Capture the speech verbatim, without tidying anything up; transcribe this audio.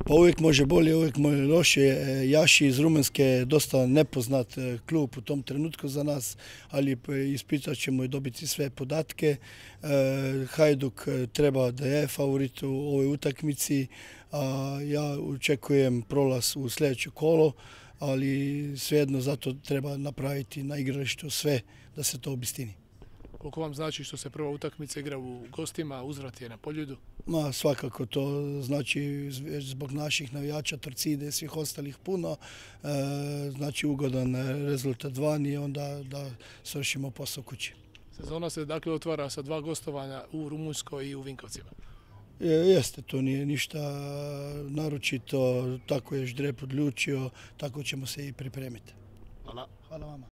Pa uvijek može bolje, uvijek može loše. Jaši iz Rumunjske je dosta nepoznat klub u tom trenutku za nas, ali ispitat ćemo i dobiti sve podatke. Hajduk treba da je favorit u ovoj utakmici, a ja očekujem prolaz u sljedeće kolo, ali svejedno zato treba napraviti na igralištu sve da se to obistini. Koliko vam znači što se prva utakmica igra u gostima, uzvrat je na Poljudu? Ma, svakako to znači zbog naših navijača, Torcide i svih ostalih puno. E, znači ugodan rezultat van i onda da svršimo posao kući. Sezona se dakle otvara sa dva gostovanja u Rumunjskoj i u Vinkovcima. E, jeste, to nije ništa naročito, tako je Ždrep odlučio, tako ćemo se i pripremiti. Hvala. Hvala vama.